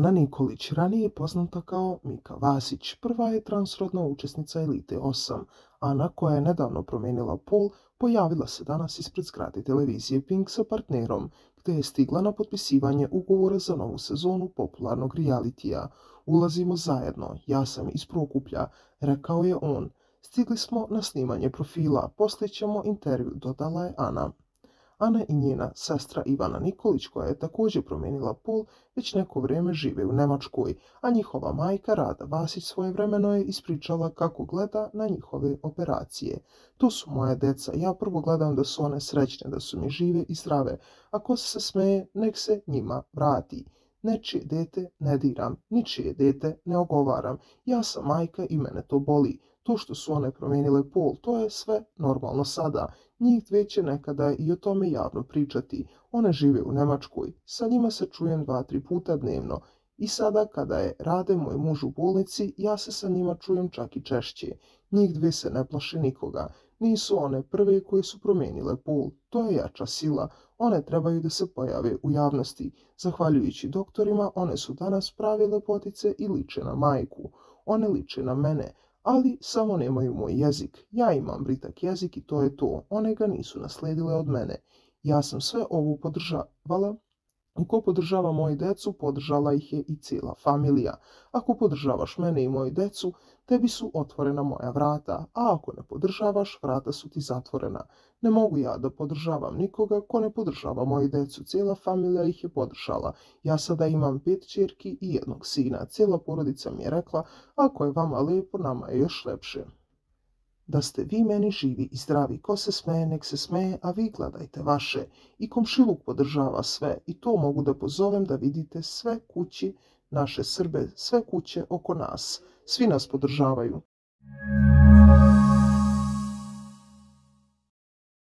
Ana Nikolić, ranije poznata kao Mika Vasić, prva je transrodna učesnica Elite 8. Ana, koja je nedavno promijenila pol, pojavila se danas ispred zgrade televizije Pink sa partnerom, gdje je stigla na potpisivanje ugovora za novu sezonu popularnog realitija. Ulazimo zajedno, ja sam iz Prokuplja, rekao je on. Stigli smo na snimanje profila, poslije ćemo intervju, dodala je Ana. Ana i njena sestra Ivana Nikolić, koja je također promijenila pol, već neko vrijeme žive u Njemačkoj, a njihova majka Rada Vasić svojevremeno je ispričala kako gleda na njihove operacije. To su moja deca, ja prvo gledam da su one srećne, da su mi žive i zdrave. Ako se smeje, nek se njima vrati. Nečije dete ne diram, ničije dete ne ogovaram. Ja sam majka i mene to boli. To što su one promijenile pol, to je sve normalno sada. Njih dve će nekada i o tome javno pričati. One žive u Njemačkoj. Sa njima se čujem 2-3 puta dnevno. I sada kada je Rade, moj muž, u bolnici, ja se sa njima čujem čak i češće. Njih dve se ne plaše nikoga. Nisu one prve koje su promijenile pol. To je jača sila. One trebaju da se pojave u javnosti. Zahvaljujući doktorima, one su danas prave lepotice i liče na majku. One liče na mene. Ali samo nemaju moj jezik. Ja imam britak jezik i to je to. One ga nisu nasledile od mene. Ja sam sve ovo podržavala. I ko podržava moju decu, podržala ih je i cijela familija. Ako podržavaš mene i moju decu, tebi su otvorena moja vrata, a ako ne podržavaš, vrata su ti zatvorena. Ne mogu ja da podržavam nikoga ko ne podržava moju decu. Cijela familija ih je podržala. Ja sada imam 5 ćerki i 1 sina. Cijela porodica mi je rekla, ako je vama lijepo, nama je još lepše. Da ste vi meni živi i zdravi, ko se smeje, nek se smeje, a vi gledajte vaše. I komšiluk podržava sve i to mogu da pozovem da vidite sve kući naše Srbe, sve kuće oko nas. Svi nas podržavaju.